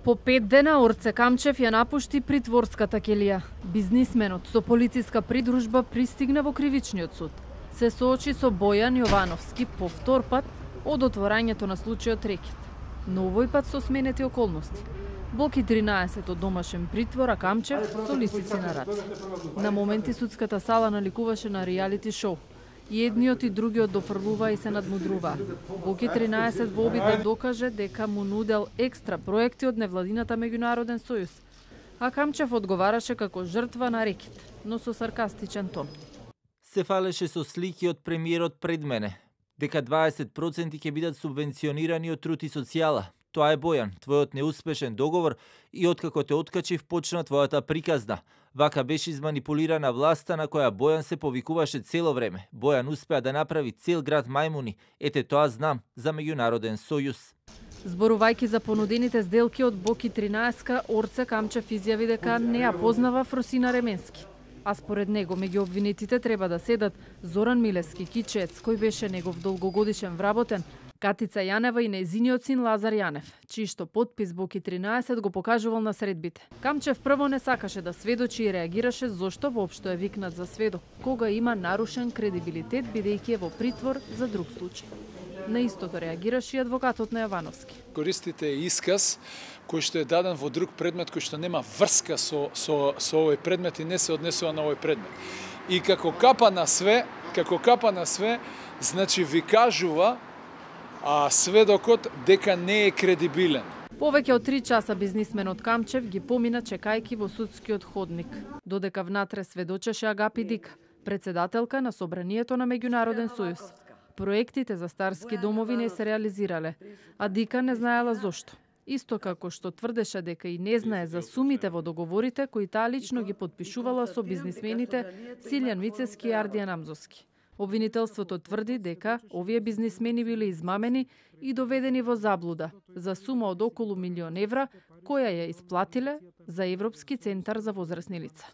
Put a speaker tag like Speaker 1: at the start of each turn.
Speaker 1: По 5 дена Орце Камчев ја напушти притворската келија. Бизнисменот со полициска придружба пристигна во кривичниот суд. Се соочи со Бојан Јовановски по втор пат од отворањето на случајот рекет. Но овој пат со сменети околности. Блоки 13 од домашен притвор, а Камчев со лисици на раце. На моменти судската сала наликуваше на реалити шоу. И едниот и другиот дофрлува и се надмудрува. Блоки 13 во обид да докаже дека му нудел екстра проекти од невладината Меѓународен сојуз. А Камчев одговараше како жртва на рекет, но со саркастичен тон.
Speaker 2: Се фалеше со слики од премиерот пред мене, дека 20% ќе бидат субвенционирани од труд и социјала. Тоа е Бојан, твојот неуспешен договор и откако те откачив почна твојата приказна. Вака беше изманипулирана власта на која Бојан се повикуваше цело време. Бојан успеа да направи цел град мајмуни. Ете тоа знам за Меѓународен сојуз.
Speaker 1: Зборувајќи за понудените сделки од Боки 13, Орце Камчев изјави дека не ја познава Фросина Ременски. А според него меѓу обвинетите треба да седат Зоран Милевски Кичец, кој беше негов долгогодишен вработен, Катица Јанева и нејзиниот син Лазар Јанев, чијшто подпис Боки 13 го покажувал на средбите. Камчев прво не сакаше да сведочи и реагираше зошто воопшто е викнат за сведок, кога има нарушен кредибилитет бидејќи е во притвор за друг случај. На истото реагираше и адвокатот на Јовановски.
Speaker 3: Користите исказ кој што е даден во друг предмет кој што нема врска со овој предмет и не се однесува на овој предмет. И како капа на све, значи ви кажува сведокот дека не е кредибилен.
Speaker 1: Повеќе од 3 часа бизнисменот Камчев ги помина чекајки во судскиот ходник, додека внатре сведочеше Агапи Дика, председателка на Собранието на Меѓународен сојуз. Проектите за старски домови не се реализирале, а Дика не знаела зошто. Исто како што тврдеше дека и не знае за сумите во договорите кои таа лично ги подпишувала со бизнисмените Силјан Вицески и Ардијан Амзовски. Обвинителството тврди дека овие бизнисмени биле измамени и доведени во заблуда за сума од околу 1.000.000 евра која ја исплатиле за Европски центар за возрасни лица.